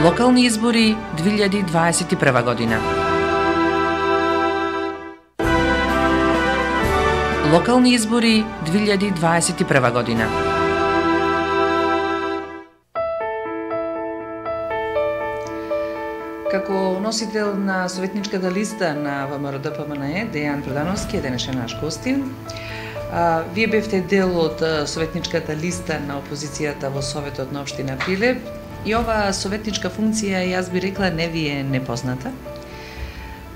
Локални избори 2021 година. Локални избори 2021 година. Како носител на советничката листа на ВМРО-ДПМНЕ, Дејан Продановски е денешен наш гостин. Вие бевте дел од советничката листа на опозицијата во Советот на општина Прилеп и оваа советничка функција, јас би рекла, не ви е непозната.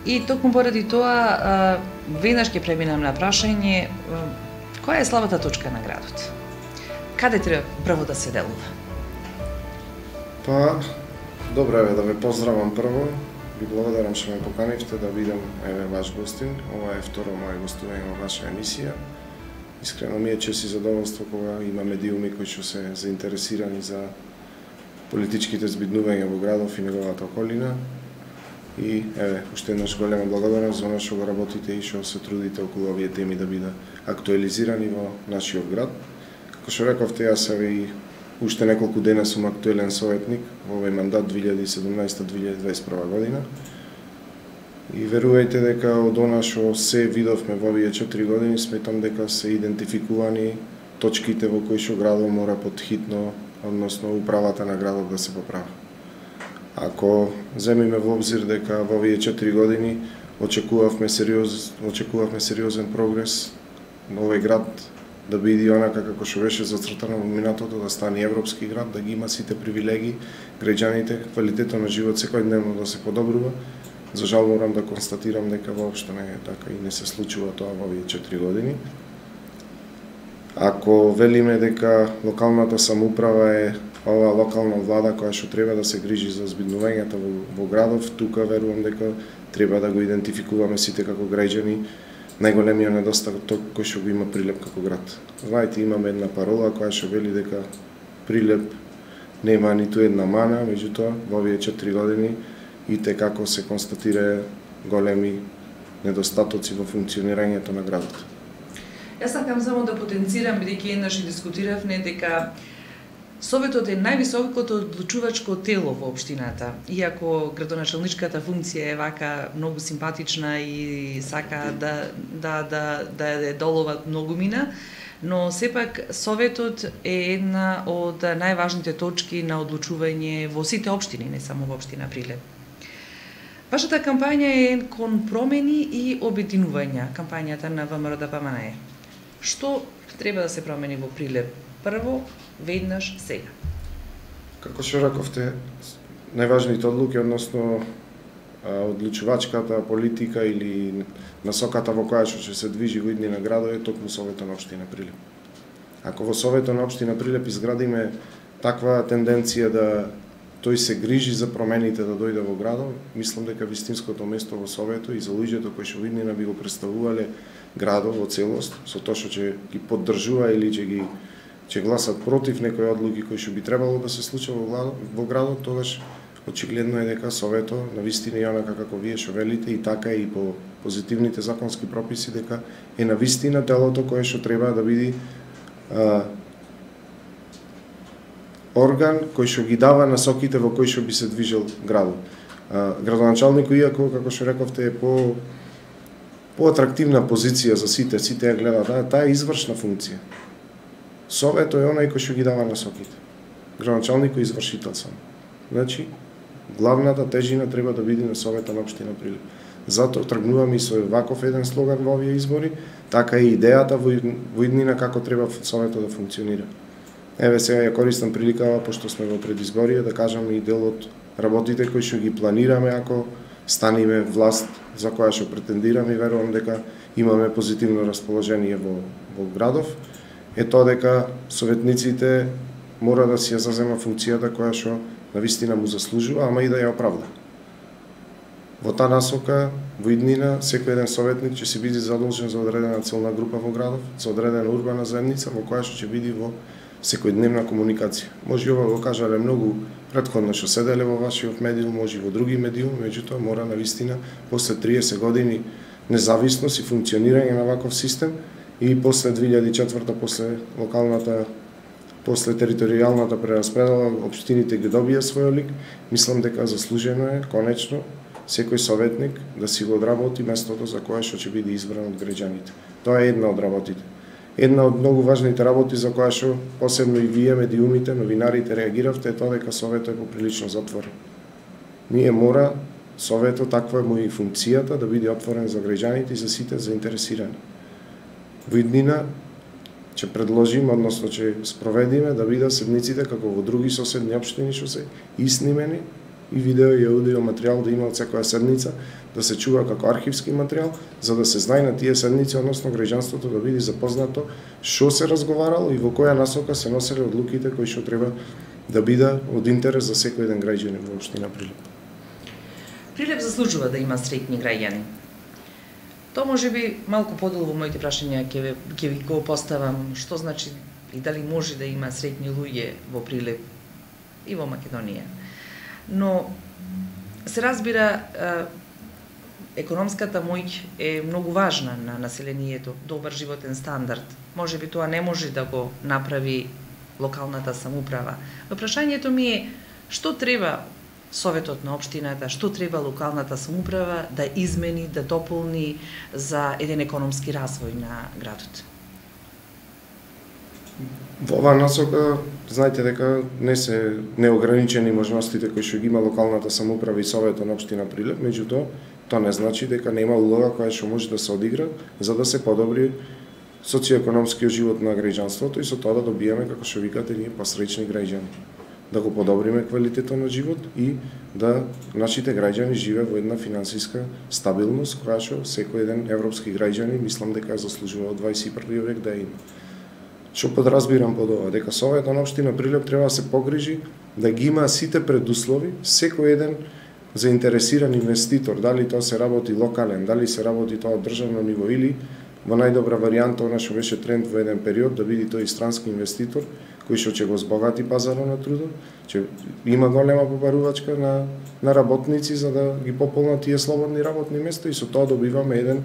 И токму поради тоа, веднаш ќе преминам на прашање, која е слабата точка на градот? Каде треба прво да се делува? Па, добро е да ве поздравам прво. Ви благодарам што ме поканивте да бидам ваш гостин. Ова е второ моје гостување во ваша емисија. Искрено ми е чест и задоволство кога има медиуми кои што се заинтересирани за политичките збиднувања во градов и неговата околина. И уште еднаш голема благодарност за она што го работите и што се трудите околу овие теми да бидат актуализирани во нашиот град. Како што рековте, јас и уште неколку дена сум актуелен советник во овој мандат 2017-2021 година. И верувајте дека од она што се видовме во овие 4 години, сметам дека се идентификувани точките во кои што градот мора подхитно, односно управата на градот да се поправи. Ако земиме во обзир дека во овие 4 години очекувавме сериозен прогрес на овој град да биде онака како што беше зацртано во минатото, да стане европски град, да ги има сите привилегии, граѓаните, квалитетот на живот секојдневно да се подобрува. За жал морам да констатирам дека воопшто не е така и не се случува тоа во овие 4 години. Ако велиме дека локалната самоуправа е ова локална влада која што треба да се грижи за збиднувањата во градов, тука верувам дека треба да го идентификуваме сите како граѓани најголемиот недостаток кој што го има Прилеп како град. Знаете, имаме една парола која што вели дека Прилеп нема ниту една мана, меѓутоа во овие 4 години и како се констатира големи недостатоци во функционирањето на градот. Јас сакам само да потенцирам, бидејќи еднаш и дискутиравме дека Советот е највисокото одлучувачко тело во општината. Иако градоначалничката функција е вака многу симпатична и сака да ја доловат многумина, но сепак Советот е една од најважните точки на одлучување во сите општини, не само во општина Прилеп. Вашата кампања е кон промени и обединувања, кампањата на ВМРО-ДПМНЕ. Што треба да се промени во Прилеп? Прво, веднаш, сега. Како што рековте, најважните одлуки, односно одлучувачката политика или насоката во која што ќе се движи во иднина градот е токму Советот на општина Прилеп. Ако во Советот на општина Прилеп изградиме таква тенденција да тој се грижи за промените да дојде во градот, мислам дека вистинското место во Советот и за луѓето кои што во иднина би го представувале градот во целост, со тоа што ќе ги поддржува или ќе гласат против некои одлуки кои што би требало да се случат во градот, тогаш очигледно е дека Советот навистина и онака како вие што велите и така и по позитивните законски прописи дека е навистина телото кое што треба да биде орган кој што ги дава насоките во кои што би се движел градот. Градоначалникот, иако како што рековте е по-атрактивна позиција за сите ја гледаат, таа е извршна функција. Советот е онај кој што ги дава насоките. Градоначалникот е извршител само. Значи, главната тежина треба да биде на Советот на општина Прилеп. Затоа тргнуваме и со ваков еден слоган во овие избори, така и идејата во иднина како треба Советот да функционира. Еве сега ја користам приликава, пошто сме во предизборие, да кажам и дел од работите кои што ги планираме ако станиме власт за која што претендираме и верувам дека имаме позитивно расположение во градов, е тоа дека советниците мора да си ја зазема функцијата која што навистина му заслужува, ама и да ја оправда. Во таа насока, во иднина, секој еден советник ќе се биде задолжен за одредена целна група во градов, за одредена урбана заедница во која што ќе биде во секојдневна комуникација. Може ова го кажале многу претходно што седеле во вашиот медиум, може и во други медиуми, меѓутоа мора навистина после 30 години независност и функционирање на ваков систем и после 2004 после локалната после територијалната прераспредела општините ги добија свој лик, мислам дека заслужено е конечно секој советник да си го одработи местото за кое што ќе биде избран од граѓаните. Тоа е една од работите. Една од многу важните работи за која што посебно и вие медиумите, новинарите реагиравте е тоа дека советот е поприлично затворен. Ние мора советот, таква е му и функцијата, да биде отворен за граѓаните и за сите заинтересирани. Во иднина ќе предложиме, односно ќе спроведиме да бидат седниците како во други соседни општини што се иснимени и видео и аудио материјал да има од секоја седница, да се чува како архивски материјал, за да се знае на тие седници, односно граѓанството да биде запознато што се разговарало и во која насока се носеле одлуките кои што треба да биде од интерес за секој еден граѓанин во општина Прилеп. Прилеп заслужува да има среќни граѓани. Тоа може би малку подолу во моите прашања ќе ви го поставам, што значи и дали може да има среќни луѓе во Прилеп и во Македонија. Но се разбира, економската моќ е многу важна на населението, добар животен стандард. Може би тоа не може да го направи локалната самоуправа. Но прашањето ми е што треба Советот на општината, што треба локалната самоуправа да измени, да дополни за еден економски развој на градот? Во оваа насока, знаете дека не се неограничени можностите кои што ги има локалната самоуправа и Советот на општина Прилеп, меѓутоа тоа не значи дека нема улога која што може да се одигра за да се подобри социоекономскиот живот на граѓанството и со тоа да добиеме, како што викате, ние посреќни граѓани. Да го подобриме квалитетот на живот и да нашите граѓани живеат во една финансиска стабилност која што секој еден европски граѓанин мислам дека заслужува од 21 век да има. Што подразбирам под ова? Дека Советот на општина Прилеп треба да се погрижи да ги има сите предуслови, секој еден заинтересиран инвеститор, дали тоа се работи локален, дали се работи тоа од државно ниво или во најдобра варијанта, она што беше тренд во еден период, да биде тој странски инвеститор, кој што ќе го збогати пазарот на трудот, ќе има голема побарувачка на работници за да ги пополнат тие слободни работни места и со тоа добиваме еден,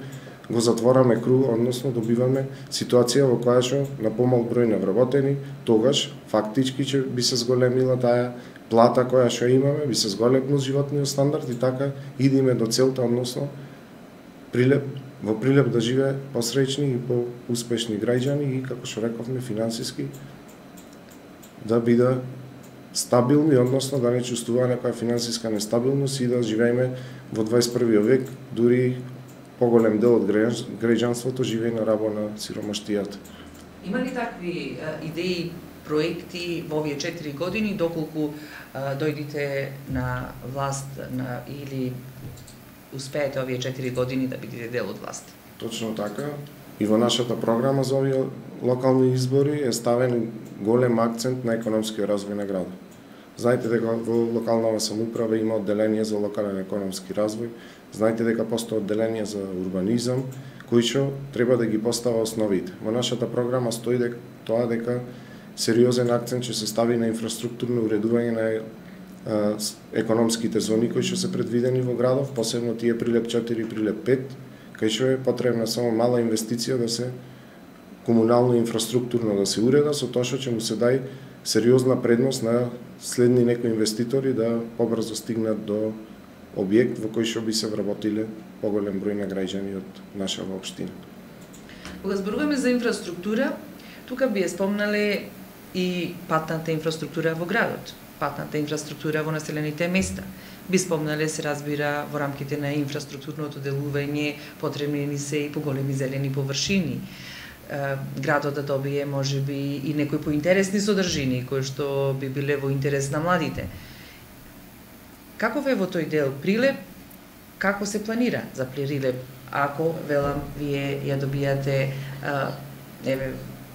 го затвораме круг, односно добиваме ситуација во која што на помал број на вработени, тогаш фактички ќе би се зголемила таа плата која што имаме, би се зголемил животниот стандард и така идеме до целта, односно во Прилеп да живее посреќни и поуспешни граѓани и, како што рековме, финансиски да биде стабилни, односно да не чувствува некоја финансиска нестабилност и да живееме во 21 век, дури поголем дел од граѓанството живее на рабо на сиромаштијата. Има ли такви идеи, проекти во овие 4 години, доколку дојдите на власт или успеете овие 4 години да бидете дел од власт? Точно така. И во нашата програма за овие локални избори е ставен голем акцент на економскиот развој на градот. Знаете дека во локалната самоуправа има одделение за локален економски развој, знаете дека постои одделение за урбанизам, кои што треба да ги постава основите. Во нашата програма стои дека сериозен акцент ќе се стави на инфраструктурно уредување на економските зони кои што се предвидени во градов, посебно тие Прилеп 4 и Прилеп 5, кај што е потребна само мала инвестиција да се комунално инфраструктурно да се уреда, со тоа што ќе му се дај сериозна предност на следни некои инвеститори да побрзо стигнат до објект во кој што би се вработиле поголем број на граѓани од нашава општина. Кога зборуваме за инфраструктура, тука би ја спомнале и патната инфраструктура во градот, патната инфраструктура во населените места. Би спомнале, се разбира, во рамките на инфраструктурното делување, потребни ни се и поголеми зелени површини. Градот да добие можеби и некои поинтересни содржини кои што би биле во интерес на младите. Каков е во тој дел Прилеп? Како се планира за Прилеп? Ако, велам, вие ја добијате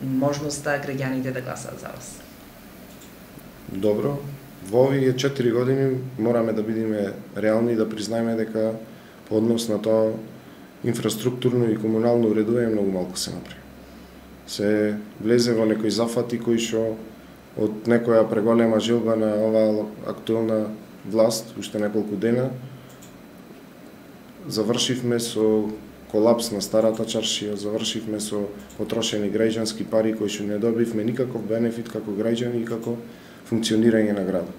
можноста граѓаните да гласаат за вас? Добро. Во овие 4 години мораме да бидеме реални и да признаеме дека по однос на тоа инфраструктурно и комунално уредување многу малку се направи. Се влезе во некои зафати кои што од некоја преголема желба на оваа актуелна власт, уште неколку дена, завршивме со колапс на старата чаршија, завршивме со потрошени граѓански пари кои што не добивме никаков бенефит како граѓани и како функционирање на градот.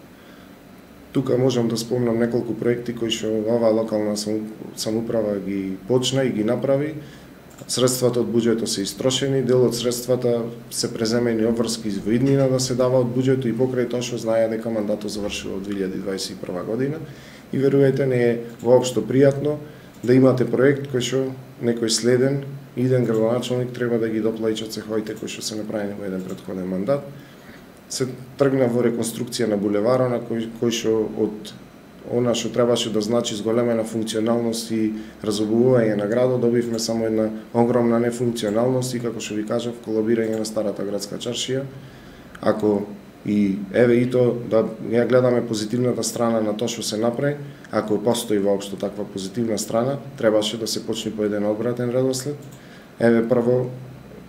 Тука можам да спомнам неколку проекти кои што оваа локална самоуправа ги почна и ги направи. Средствата од буџетот се истрошени, дел од средствата се преземени обврски во иднина да се дава од буџетот и покрај тоа што знае дека мандатот завршува од 2021 година и верувајте не е воопшто пријатно да имате проект кој што некој следен иден градоначалник треба да ги доплаќа цеховите кои што се направени во еден претходен мандат. Се тргна во реконструкција на булеварот на кој што од она што требаше да значи зголемена функционалност и разобувување на градот, добивме само една огромна нефункционалност и како што ви кажав, колабирање на старата градска чаршија. Ако и еве и тоа да ја гледаме позитивната страна на тоа што се направи, ако постои воопшто таква позитивна страна, требаше да се почне по еден обратен редослед. Еве прво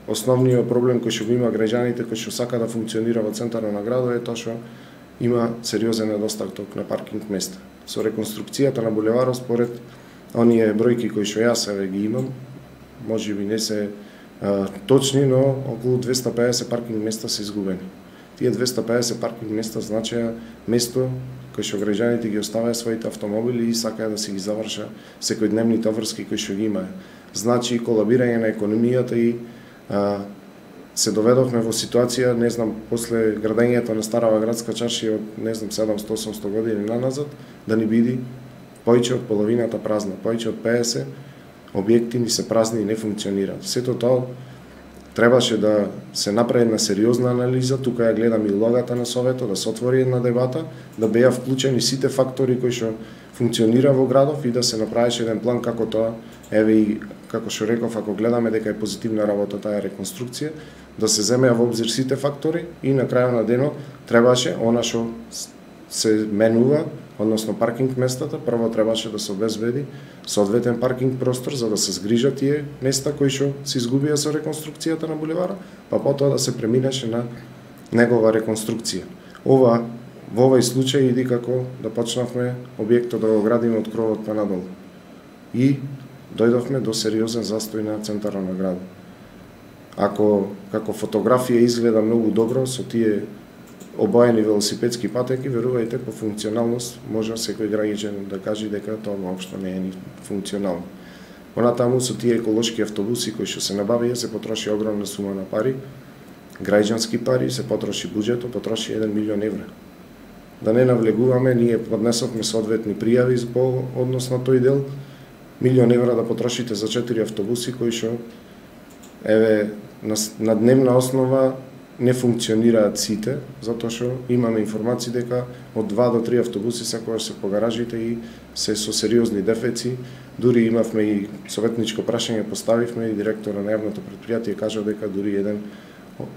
основниот проблем кој што го има граѓаните кои што сака да функционира во центарот на градот е тоа што има сериозен недостаток на паркинг места. Со реконструкцијата на булеварот според оние бројки кои што јас еве ги имам, можеби не се точни, но околу 250 паркинг места се изгубени. Тие 250 паркинг места значеа место кој што граѓаните ги оставаја своите автомобили и сакаја да си ги заврша секојдневните обврски кои што ги имаја. Значи колабирање на економијата и се доведовме во ситуација, не знам, после градењето на старава градска чаршија од, не знам, 700-800 години наназад, да ни биде повеќе од половината празна, повеќе од 50 објекти ни се празни и не функционираат. Сето тоа требаше да се направи една сериозна анализа, тука ја гледам и логата на Советот, да се отвори една дебата, да беа вклучени сите фактори кои што функционира во градов и да се направеше еден план како тоа, еве и како што реков, ако гледаме дека е позитивна работа таа реконструкција, да се земеа во обзир сите фактори и на крајот на денот требаше она што се менува, односно паркинг местата, прво требаше да се обезбеди соодветен паркинг простор за да се згрижат тие места кои што се изгубија со реконструкцијата на булеварот, па потоа да се преминеше на негова реконструкција. Ова во овој случај иди како да почнавме објектот да го градиме од кровот па надолу. И дојдовме до сериозен застој на центарот на градот. Ако како фотографија изгледа многу добро со тие обоени велосипедски патеки, верувајте по функционалност може секој граѓанин да каже дека тоа воопшто не е ни функционално. Понатаму со тие еколошки автобуси кои што се набавија се потроши огромна сума на пари, граѓански пари, се потроши буџетот, потроши 1 милион евра. Да не навлегуваме, ние поднесовме соодветни пријави по однос на тој дел, 1 милион евра да потрошите за 4 автобуси кои што еве на дневна основа не функционираат сите, затоа што имаме информации дека од 2 до 3 автобуси секогаш се по гаражите и се со сериозни дефеци. Дури имавме и советничко прашање поставивме и директора на јавното претпријатие кажа дека дури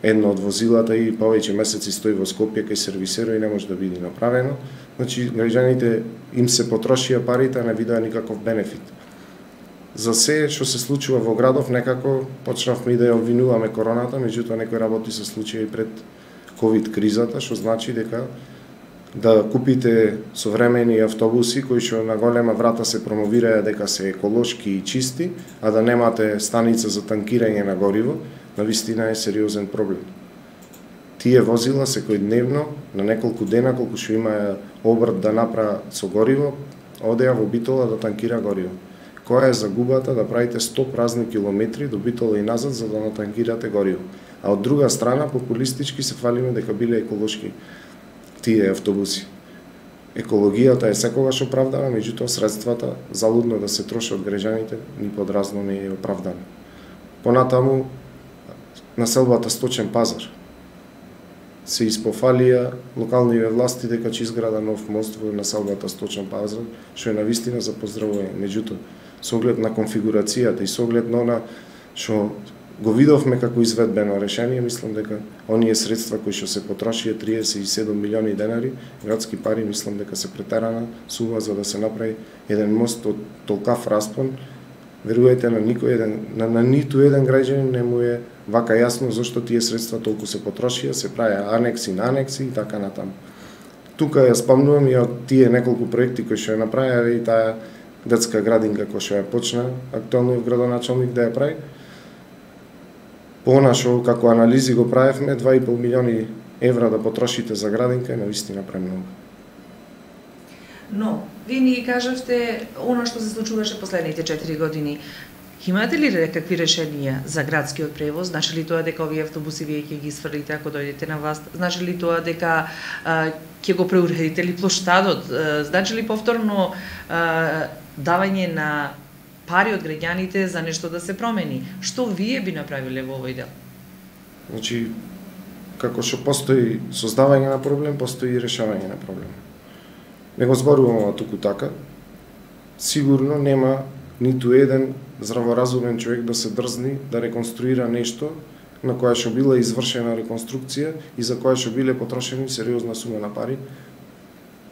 едно од возилата и повеќе месеци стои во Скопје кај сервисерот и не може да биде направено. Значи граѓаните им се потрошија парите, а не видоа никаков бенефит. За се што се случува во градов, некако почнавме и да ја обвинуваме короната, меѓутоа некои работи се случија и пред ковид кризата, што значи дека да купите современи автобуси кои што на голема врата се промовираја дека се еколошки и чисти, а да немате станица за танкирање на гориво, навистина е сериозен проблем. Тие возила секојдневно на неколку дена колку што имаја обрт да направа со гориво, одеа во Битола да танкира гориво. Која е загубата да правите 100 празни километри до Битола и назад за да натанкирате гориво. А од друга страна, популистички се фалиме дека биле еколошки тие автобуси. Екологијата е секогаш оправдана, меѓутоа средствата залудно да се трошат од граѓаните ни подразно не е оправдана. Понатаму, населбата Сточен пазар. Се испофалија локалниве власти дека ќе изграда нов мост во населбата Сточен пазар, што е навистина за поздравување. Меѓутоа, со оглед на конфигурацијата и со оглед на она што го видовме како изведбено решение, мислам дека оние средства кои што се потрошија 37 милиони денари, градски пари, мислам дека се претерана сума за да се направи еден мост од толкав распон. Верувајте на ниту еден граѓанин не му е вака јасно зашто тие средства толку се потрошија, се правеа анекси на анекси и така натаму. Тука ја спомнувам и од тие неколку проекти кои што ја направија и таа детска градинка која што ја почна актуелниот градоначалник да ја прави. Понашо, како анализи го правевме, 2,5 милиони евра да потрошите за градинка е навистина премногу. Но, вие ни кажавте она што се случуваше последните 4 години. Имате ли какви решенија за градскиот превоз? Значи ли тоа дека овие автобуси вие ќе ги сврлите ако дојдете на власт? Значи ли тоа дека ќе го преуредите ли плоштадот? Значи ли повторно давање на пари од граѓаните за нешто да се промени? Што вие би направиле во овој дел? Значи, како што постои создавање на проблем, постои и решавање на проблем. Не го зборувам туку така. Сигурно нема ниту еден здраворазумен човек да се дрзни да реконструира нешто на која што била извршена реконструкција и за која што биле потрошени сериозна сума на пари.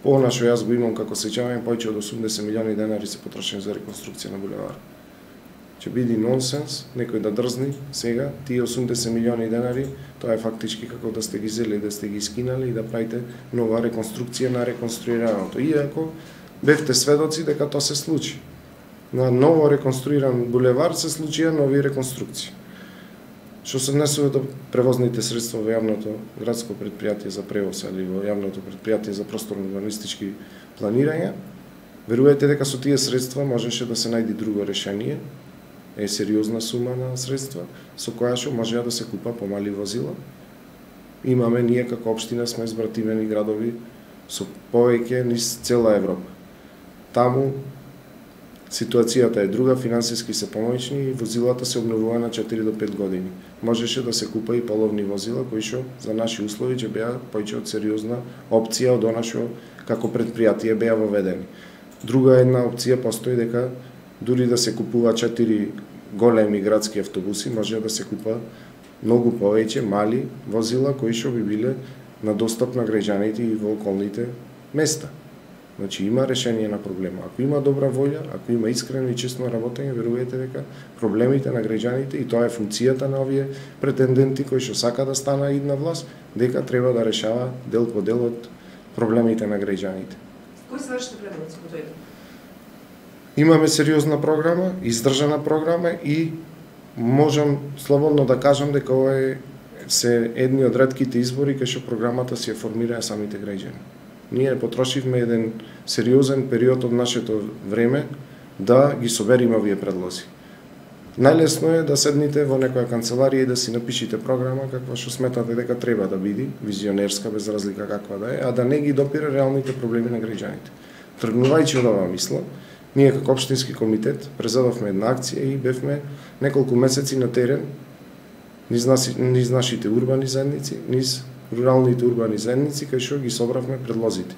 Она што јас го имам како сеќавање, повеќе од 80 милиони денари се потрошени за реконструкција на булевар. Ќе биде нонсенс некој да дрзни сега тие 80 милиони денари, тоа е фактички како да сте ги зели, да сте ги скинали и да правите нова реконструкција на реконструираното. Иако бевте сведоци дека тоа се случи. На ново реконструиран булевар се случија нови реконструкции. Што се однесува до превозните средства во јавното градско предпријатие за превоз или во јавното предпријатие за просторно-урбанистички планирања, верувајте дека со тие средства можеше да се најде друго решение, е сериозна сума на средства, со која што можеа да се купа помали возила. Имаме ние како општина сме избратимени градови со повеќе низ цела Европа. Таму ситуацијата е друга, финансиски се помоćни и возилата се обновува на 4 до 5 години. Можеше да се купа и половни возила кои што за наши услови ќе беа повеќе од сериозна опција од она што како предпријатие беа воведени. Друга една опција постои дека дури да се купува 4 големи градски автобуси, може да се купа многу повеќе мали возила кои што би биле на достап на граѓаните и во околните места. Значи има решение на проблема. Ако има добра волја, ако има искрено и честно работење, верувајте дека проблемите на граѓаните, и тоа е функцијата на овие претенденти кои што сака да стана идна власт, дека треба да решава дел по дел од проблемите на граѓаните. Кои се вашите предоци по тој дел? Имаме сериозна програма, издржана програма и можам слободно да кажам дека ова се едни од ретките избори кај што програмата си ја формираа самите граѓани. Ние потрошивме еден сериозен период од нашето време да ги собериме овие предлози. Најлесно е да седните во некоја канцеларија и да си напишите програма каква што сметате дека треба да биде, визионерска без разлика каква да е, а да не ги допира реалните проблеми на граѓаните. Тргнувајќи од оваа мисла, ние како општински комитет презедовме една акција и бевме неколку месеци на терен низ нашите урбани заедници, низ руралните урбани заедници, кај што ги собравме предлозите.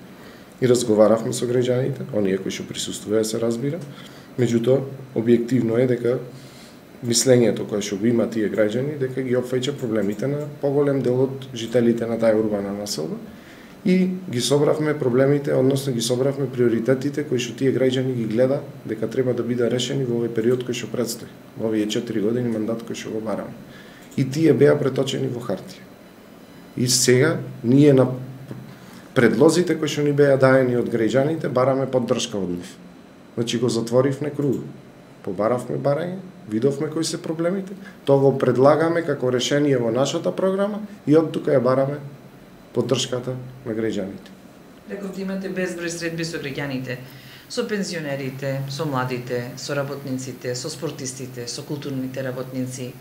И разговаравме со граѓаните, оние кои што присуствуваа се разбира, меѓутоа објективно е дека мислењето кое што го има тие граѓани дека ги опфаќа проблемите на поголем дел од жителите на таа урбана населба и ги собравме проблемите, односно ги собравме приоритетите кои што тие граѓани ги гледа дека треба да биде решени во овој период кој што предстои, во овие 4 години мандат кој што го бараме. И тие беа преточени во хартија. И сега ние на предлозите кои што ни беа даени од граѓаните бараме поддршка од нив. Значи го затворивме круг. Побаравме барање, видовме кои се проблемите, тоа го предлагаме како решение во нашата програма и од тука ја бараме поддршката на граѓаните. Рековте имате безброј средби со граѓаните, со пензионерите, со младите, со работниците, со спортистите, со културните работници.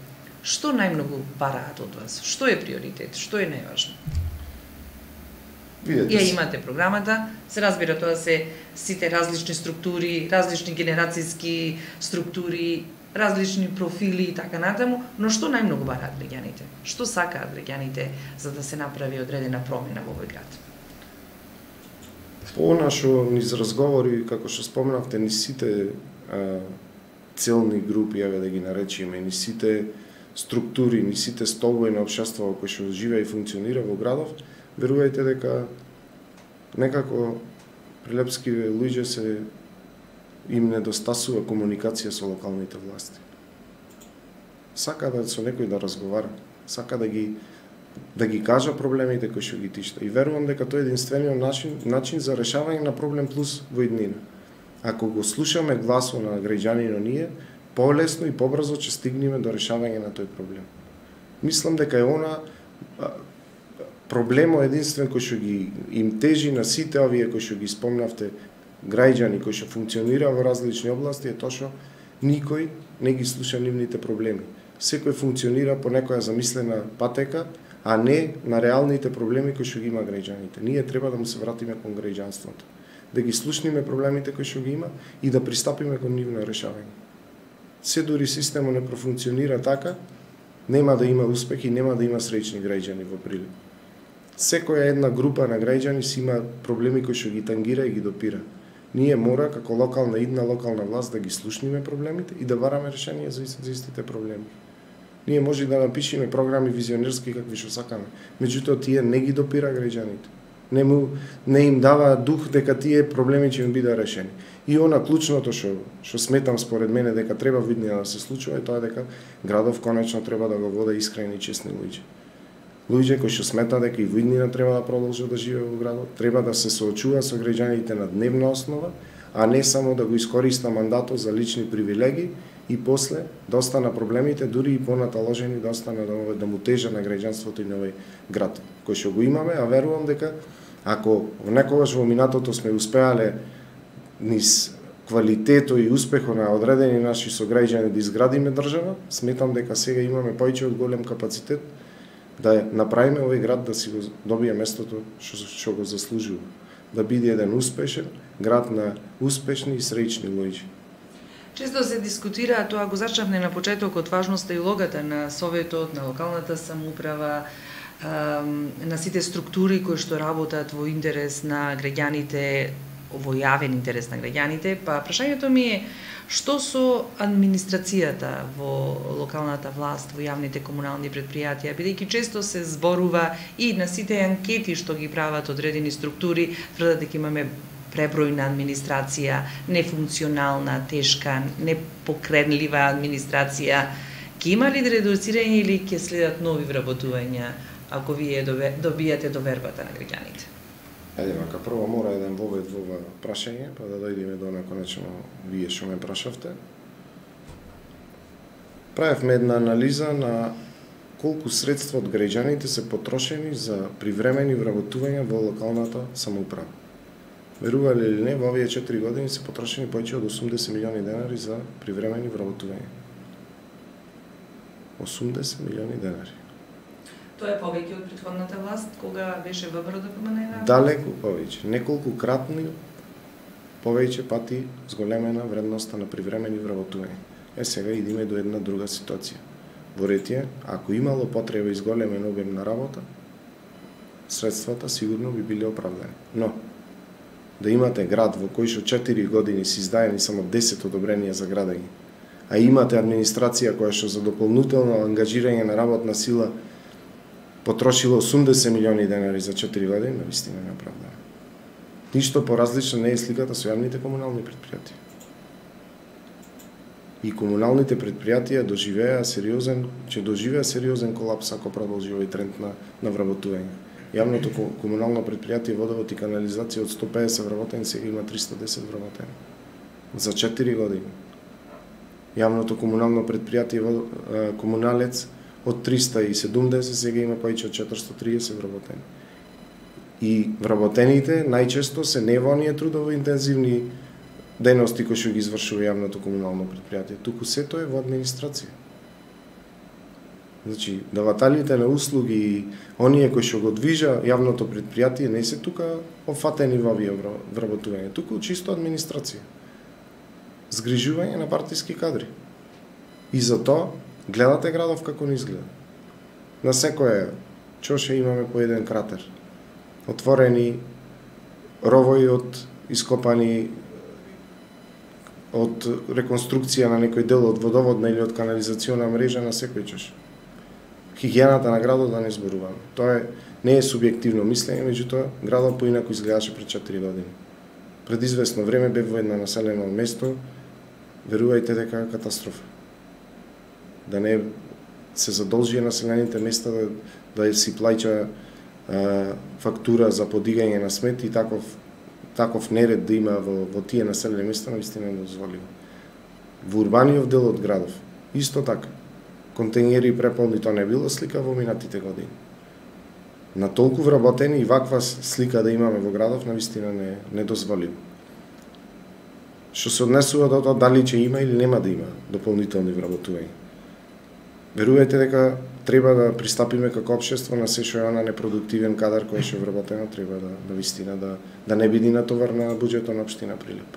Што најмногу бараат од вас? Што е приоритет? Што е најважно? Ја имате програмата, се разбира тоа се сите различни структури, различни генерацијски структури, различни профили и така натаму, но што најмногу бараат граѓаните? Што сакаат граѓаните за да се направи одредена промена во овој град? По нашо низ разговори, како што спомнавте, ни сите целни групи, еве да ги наречеме, ни сите структури, ни сите столбови на општеството кои што живее и функционира во градов, верувајте дека некако прилепски луѓе се им недостасува комуникација со локалните власти. Сака да со некој да разговара, сака да ги кажа проблемите кои што ги тишта. И верувам дека тоа е единствениот начин за решавање на проблем плюс во иднина. ако го слушаме гласот на граѓанино ние, полесно и побрзо ќе стигнеме до решавање на тој проблем. Мислам дека е она проблемот единствен кој што ги им тежи на сите овие кои што ги спомнавте граѓани кои што функционира во различни области е тоа што никој не ги слуша нивните проблеми. Секој функционира по некоја замислена патека, а не на реалните проблеми кои што ги има граѓаните. Ние треба да му се вратиме кон граѓанството, да ги слушнеме проблемите кои што ги има и да пристапиме кон нивно решавање. Се дури системот не профункционира така, нема да има успех и нема да има среќни граѓани во Прилеп. Секоја една група на граѓани си има проблеми кои што ги тангира и ги допира. Ние мора како локална власт да ги слушниме проблемите и да бараме решение за истите проблеми. Ние може да напишеме програми визионерски какви што сакаме, меѓутоа тие не ги допира граѓаните. Не им дава дух дека тие проблеми ќе им бидат решени. И она клучното што сметам според мене дека треба во иднина да се случува е тоа дека градов конечно треба да го води искрени и честни луѓе. Луѓе кои што сметаат дека и во иднина треба да продолжат да живеат во градот, треба да се соочуваат со граѓаните на дневна основа, а не само да го искориста мандатот за лични привилегии и после да остана проблемите, дури и понаталожени да остана да му тежа на граѓанството и на овој град, кој што го имаме, а верувам дека ако некогаш во минатото сме успеале низ квалитето и успехот на одредени наши сограѓани да изградиме држава, сметам дека сега имаме повеќе од голем капацитет да направиме овој град да си го добие местото што го заслужува, да биде еден успешен град на успешни и среќни луѓе. Често се дискутира, тоа го зачнавме на почетокот, важноста и улогата на Советот, на локалната самоуправа, на сите структури кои што работат во интерес на граѓаните, во јавен интерес на граѓаните, па прашањето ми е што со администрацијата во локалната власт, во јавните комунални предпријатија, бидејќи често се зборува и на сите анкети што ги прават одредени структури, тврдат дека имаме пребројна администрација, нефункционална, тешка, непокренлива администрација. Ќе има ли редуцирање или ќе следат нови вработувања ако вие добијате довербата на граѓаните? Мака прво мора еден вовед во ова прашање, па да дојдеме до конечно вие што ме прашавте. Правевме една анализа на колку средства од граѓаните се потрошени за привремени вработувања во локалната самоуправа. Верували или не, во овие 4 години се потрошени повеќе од 80 милиони денари за привремени вработувања. 80 милиони денари. Тоа е повеќе од претходната власт, кога беше ВМРО да променена? Далеку повеќе, неколку кратни повеќе пати зголемена вредноста на привремени вработувања. Сега идеме до една друга ситуација. Во Ретје, ако имало потреба изголемен обем на работа, средствата сигурно би биле оправдани. Но да имате град во кој што 4 години се издаени само 10 одобренија за градење, а имате администрација која што за дополнително ангажирање на работна сила потрошила 80 милиони денари за 4 години, навистина не оправдано. Ништо поразлично не е сликата со јавните комунални предпријатија. И комуналните предпријатија ќе доживеа сериозен колапс ако продолжи овој тренд на вработување. Јавното комунално предпријатие водовод и канализација од 150 вработени сега има 310 вработени. За 4 години. Јавното комунално предпријатие Комуналец од 370 сега има повеќе од 430 вработени. И вработените најчесто се не во оние трудово интензивни дејности кои што ги извршува јавното комунално предпријатие, туку сето е во администрација. Значи, давателите на услуги и оние кои што го движа јавното предпријатие не се тука офатени во овие вработување, туку чисто администрација. Згрижување на партиски кадри. И затоа гледате градов како не изгледа. На секоја чоше имаме по еден кратер. Отворени ровои од ископани од реконструкција на некој дел од водоводна или од канализациона мрежа на секој чош. Хигиената на градот да не зборуваме. Тоа не е субјективно мислење, меѓутоа градот поинаку изгледаше пред 4 години. Пред известно време бе во едно населено место, верувајте дека е катастрофа. Да не се задолжи населените места да си плаќа фактура за подигање на смет и таков неред да има во тие населени места навистина недозволиво. Во урбаниот дел од градов исто така. Контејнери преполни, тоа не било слика во минатите години. На толку вработени и ваква слика да имаме во градов навистина не дозволиво. Што се однесува до тоа дали ќе има или нема да има дополнителни вработувања. Верувајте дека треба да пристапиме како општество на се што е она непродуктивен кадар кој е вработено, треба да вистина да не биде натовар на буџетот на општина Прилеп.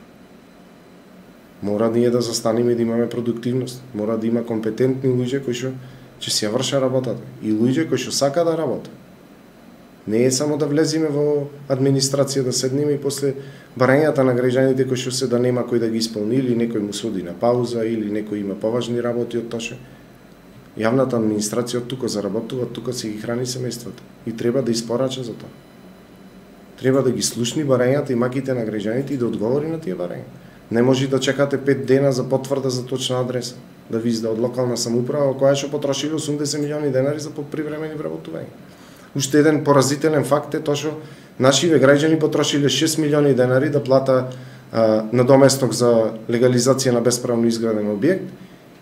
Мора ние да застанеме и да имаме продуктивност. Мора да има компетентни луѓе кои што ќе си ја вршат работата и луѓе кои што сака да работат. Не е само да влеземе во администрација да седнеме и после барањата на граѓаните кои што се да нема кој да ги исполни или некој му соди на пауза или некој има поважни работи од тоа. Јавната администрација од тука заработува, тука се ги храни семејствата и треба да испорача за тоа. Треба да ги слушни барањата и маките на граѓаните и да одговори на тие барања. Не може да чекате 5 дена за потврда за точна адреса, да ви изда од локална самоуправа која што потрошили 80 милиони денари за привремени вработувања. Уште еден поразителен факт е тоа што нашиве граѓани потрошиле 6 милиони денари да плата надоместок за легализација на бесправно изграден објект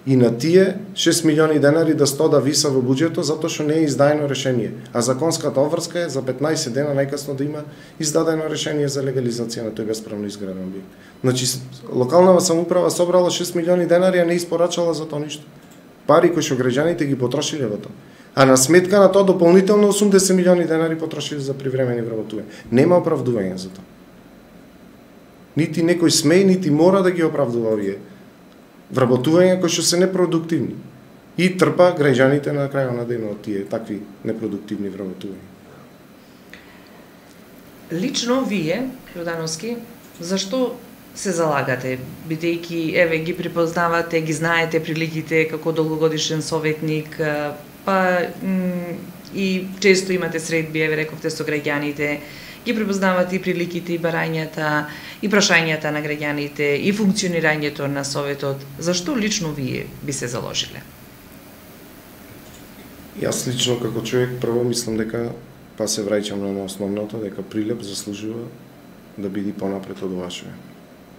и на тие 6 милиони денари да да виса во буџетот затоа што не е издаено решение. А законската обврска е за 15 дена најкасно да има издадено решение за легализација на тој бесправно изграден објект. Значи, локалната самоуправа собрала 6 милиони денари, а не испорачала за тоа ништо. Пари кои што граѓаните ги потрошиле во тоа. А на сметка на тоа дополнително 80 милиони денари потрошили за привремени вработувања. Нема оправдување за тоа. Нити некој сме, нити мора да ги оправдува овие вработувања кои што се непродуктивни. И трпа граѓаните на крајот на денот тие такви непродуктивни вработувања. Лично вие, Јордановски, зашто се залагате, бидејќи еве ги припознавате, ги знаете приликите како долгогодишен советник, па и често имате средби, еве рековте со граѓаните, ги припознавате и приликите и барањата и прашањата на граѓаните и функционирањето на советот. Зашто лично вие би се заложиле? Јас лично како човек прво мислам дека па се враќам на основното дека Прилеп заслужува да биде понапред од ова што е.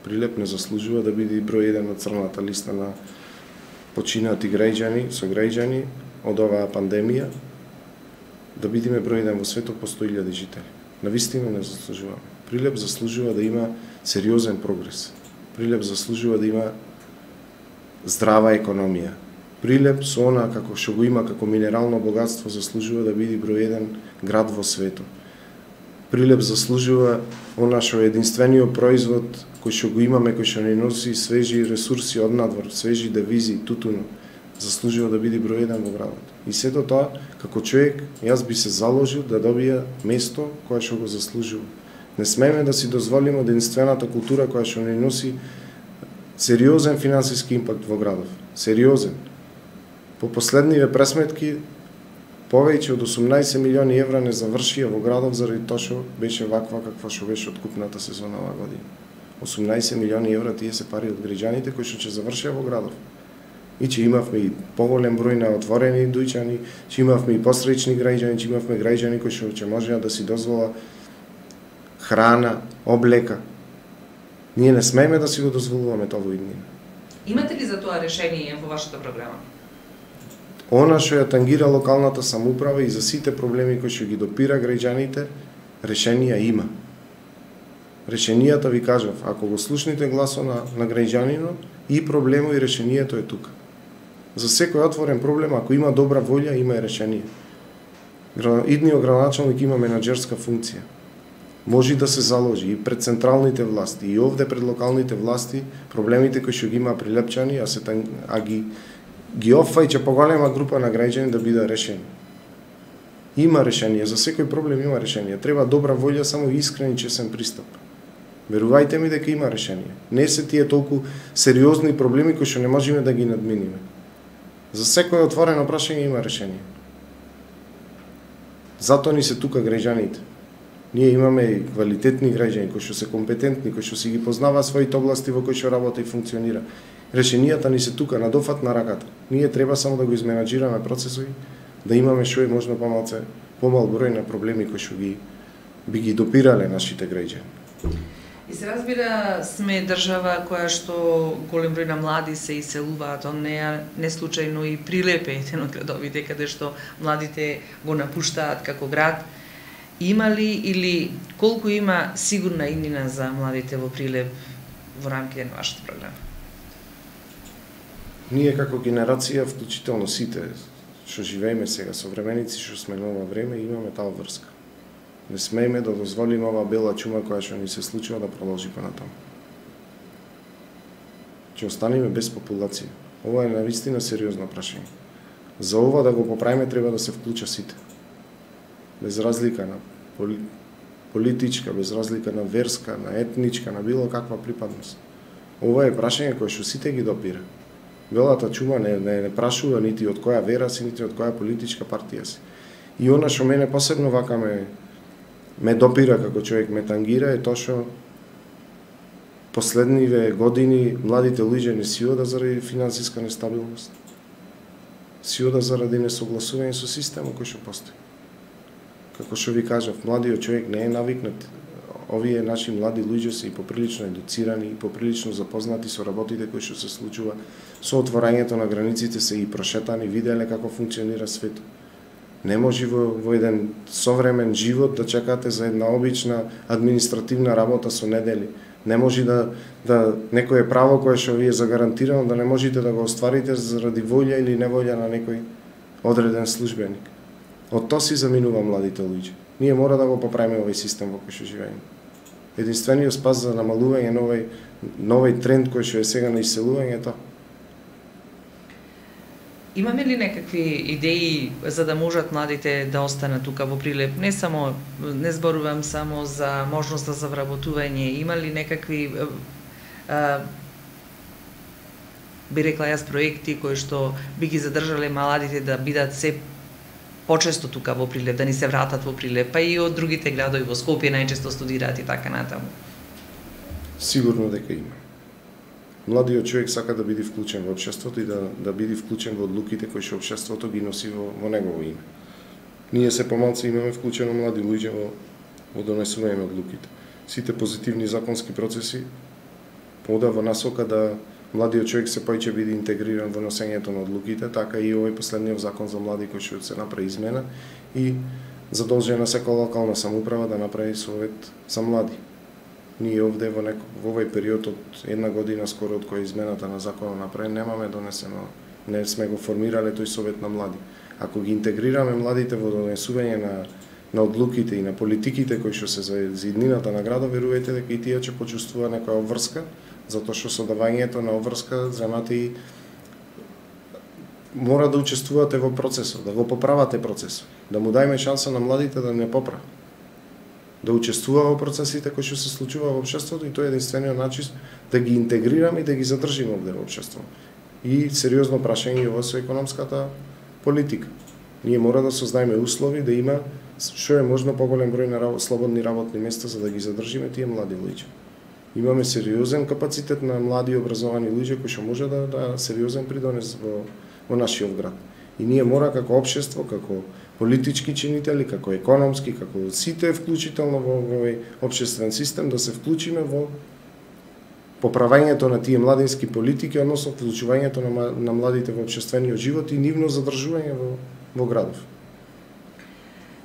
Прилеп не заслужува да биде број 1 на црната листа на починати граѓани, сограѓани од оваа пандемија, да бидеме број 1 во светот по 100.000 жители. Навистина не заслужуваме. Прилеп заслужува да има сериозен прогрес. Прилеп заслужува да има здрава економија. Прилеп со она како што го има како минерално богатство заслужува да биде број 1 град во светот. Прилеп заслужува она што е единствениот производ кој што го имаме, кој што ни носи свежи ресурси од надвор, свежи девизи, тутуно, заслужува да биде број 1 во градот. И сето тоа, како човек, јас би се заложил да добија место кое што го заслужува. Не смееме да си дозволиме единствената култура која што ни носи сериозен финансиски импакт во градов. Сериозен. По последниве пресметки, повеќе од 18 милиони евра не завршија во градов заради тоа што беше ваква каква што беше откупната сезона оваа година. 18 милиони евра тие се пари од граѓаните кои што ќе завршија во градов. И че имавме и поголем број на отворени дуќани, че имавме и посречни граѓани, че имавме граѓани кои што ќе можеа да си дозвола храна, облека. Ние не смееме да си го дозволуваме тоа во иднина. Имате ли за тоа решение во вашата програма? Она што ја тангира локалната самоуправа и за сите проблеми кои што ги допира граѓаните, решенија има. Решенијата ви кажав, ако го слушните гласот на граѓанинот, и проблемот и решението е тука. За секој отворен проблем, ако има добра волја, има и решение. Идниот градоначалник има менаџерска функција. Може да се заложи и пред централните власти, и овде пред локалните власти, проблемите кои што ги има прилепчани, ги офајќа поголема група на граѓани да бидат решени. Има решение, за секој проблем има решение. Треба добра волја, само искрен и честен пристап. Верувајте ми дека има решение. Не се тие толку сериозни проблеми кои што не можеме да ги надминиме. За секој отворено прашање има решение. Затоа ни се тука граѓаните. Ние имаме и квалитетни граѓани кои што се компетентни, кои што си ги познаваат своите области во кои што работи и функционира. Решенијата ни се тука на дофат на раката. Ние треба само да го изменаџираме процесот, да имаме што е можно помал број на проблеми кои што би ги допирале нашите граѓани. И се разбира, сме држава која што голем број на млади се иселуваат, не случајно и Прилеп е еден од градовите каде што младите го напуштаат како град. Има ли или колку има сигурна иднина за младите во Прилеп во рамките на вашата програма? Ние како генерација, вклучително сите што живееме сега, современици што сме на ова време, имаме таа врска. Не смееме да дозволиме ова бела чума која што ни се случува да продолжи понатаму. Ќе останеме без популација. Ова е навистина сериозно прашање. За ова да го поправиме треба да се вклуча сите. Без разлика на политичка, без разлика на верска, на етничка, на било каква припадност. Ова е прашање кое што сите ги допира. Белата чума не прашува нити од која вера си, нити од која политичка партија си. И она што мене посебно вака ме допира како човек, ме тангира е тоа што последниве години младите луѓе не си ода заради финансиска нестабилност. Си ода заради несогласување со системот кој што постои. Како што ви кажав, младиот човек не е навикнат. Овие наши млади луѓе се и поприлично едуцирани, и поприлично запознати со работите кои што се случува, со отворањето на границите се и прошетани, виделе како функционира светот. Не може во еден современ живот да чекате за една обична административна работа со недели. Не може да некое право кое што ви е загарантирано да не можете да го остварите заради волја или неволја на некој одреден службеник. Од тоа си заминува младите луѓе. Ние мора да го поправиме овој систем во кој што живееме. Единствениот спас за намалување новој тренд кој што е сега на иселување е тоа. Имаме ли некакви идеи за да можат младите да останат тука во Прилеп? Не зборувам само за можност за вработување. Има ли некакви би рекла јас проекти кои што би ги задржале младите да бидат се почесто тука во Прилеп, да ни се вратат во Прилеп, па и од другите градови во Скопје најчесто студираат и така натаму? Сигурно дека има. Младиот човек сака да биде вклучен во општеството и да биде вклучен во одлуките кои што општеството ги носи во негово име. Ние се помалку имаме вклучено млади луѓе во донесување на одлуките. Сите позитивни законски процеси пода во насока да младиот човек се поиќе биде интегриран во носењето на одлуките, така и овој последниот закон за млади кој што се направи измена и задолжена секоја локална самоуправа да направи совет за млади. Ние овде во овој период од една година скоро од која измената на законот направи, немаме донесено, не сме го формирале тој совет на млади. Ако ги интегрираме младите во донесување на одлуките и на политиките кои што се за иднината на градот, верувајте дека и тие ќе почувствува некоја обврска, затоа што со давањето на обврска земате и мора да учествувате во процесот, да го поправате процесот, да му дајме шанса на младите да не поправат, да учествува во процесите кои што се случува во општеството и тоа е единствениот начин да ги интегрираме и да ги задржиме овде во општеството. И сериозно прашање ова со економската политика. Ние мора да создадеме услови да има што е можно поголем број на слободни работни места за да ги задржиме тие млади луѓе. Имаме сериозен капацитет на млади образовани луѓе кои што може да сериозен придонес во нашиот град. И ние мора како општество, како политички чинители, како економски, како сите вклучително во овој општествен систем да се вклучиме во поправањето на тие младински политики, односно вклучувањето на младите во општествениот живот и нивно задржување во градов.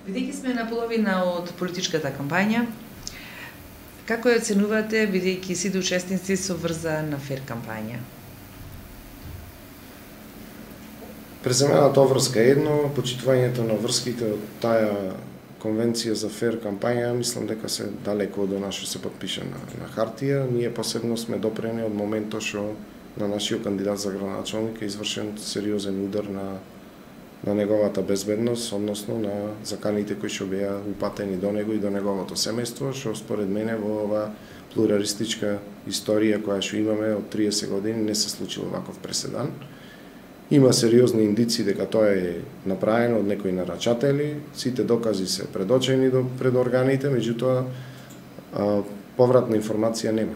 Бидејќи сме на половина од политичката кампања, како ја оценувате, бидејќи сите учесници со врзана фер кампања? Преземената врска е едно, почитувањето на врските од таа конвенција за фер кампања, мислам дека се далеко од она што се подпише на хартија. Ние посебно сме допрени од моментот што на нашиот кандидат за градоначалник е извршен сериозен удар на неговата безбедност, односно на заканите кои што беа упатени до него и до неговото семејство, што според мене во ова плуралистичка историја која што имаме од 30 години не се случил ваков преседан. Има сериозни индици дека тоа е направено од некои нарачатели, сите докази се предочени пред органите, меѓутоа повратна информација нема.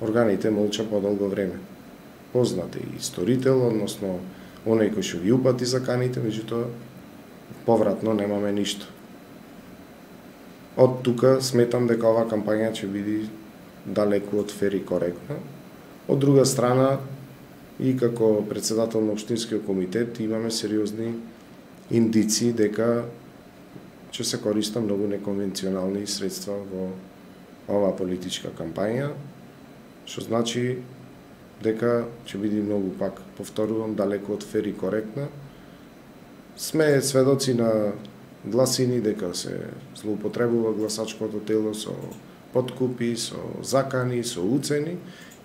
Органите молча подолго време. Познат е исторител, односно оној кој што ги упати заканите, меѓутоа повратно немаме ништо. Од тука сметам дека оваа кампања ќе биде далеку од фер и коректна. Од друга страна, и како председател на Општинскиот комитет имаме сериозни индици дека ќе се користат многу неконвенционални средства во оваа политичка кампања, што значи дека ќе биде многу, пак повторувам, далеку од фер и коректна. Сме сведоци на гласини дека се злоупотребува гласачкото тело со подкупи, со закани, со уцени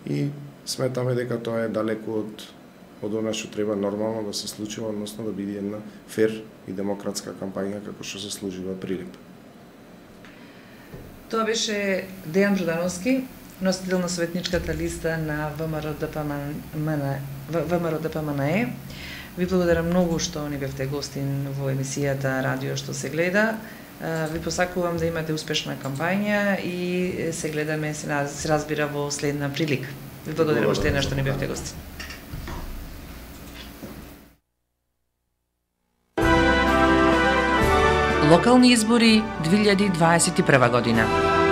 и сметаме дека тоа е далеку од она што треба нормално да се случува, односно да биде една фер и демократска кампања како што се служува Прилеп. Тоа беше Дејан Продановски, носител на советничката листа на ВМРО-ДПМНЕ. Ви благодарам многу што ни бевте гостин во емисијата Радио што се гледа. Ви посакувам да имате успешна кампања и се гледаме, се разбира во следна прилика. Ви благодарам уште еднаш што ни бевте гостин. Локални избори 2021 година.